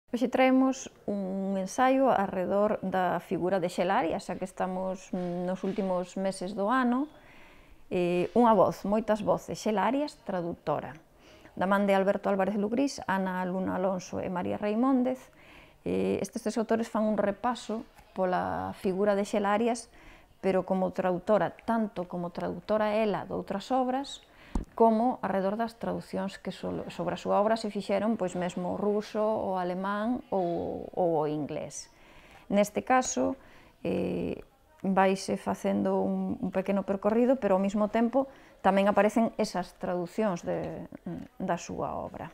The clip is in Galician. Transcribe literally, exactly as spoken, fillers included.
Hoxe traemos un ensaio arredor da figura de Xelaria, xa que estamos nos últimos meses do ano. Eh, unha voz, moitas voces, Xelarias, traductora. Da man de Alberto Álvarez Lugrís, Ana Luna Alonso e María Reimóndez, eh, estes tres autores fan un repaso pola figura de Xelarias, pero como traductora, tanto como traductora ela de outras obras, como arredor das traducións que sobre a súa obra se fixeron pois mesmo o ruso, o alemán ou, ou o inglés. Neste caso, eh, vaise facendo un, un pequeno percorrido, pero ao mesmo tempo tamén aparecen esas traducións de, da súa obra.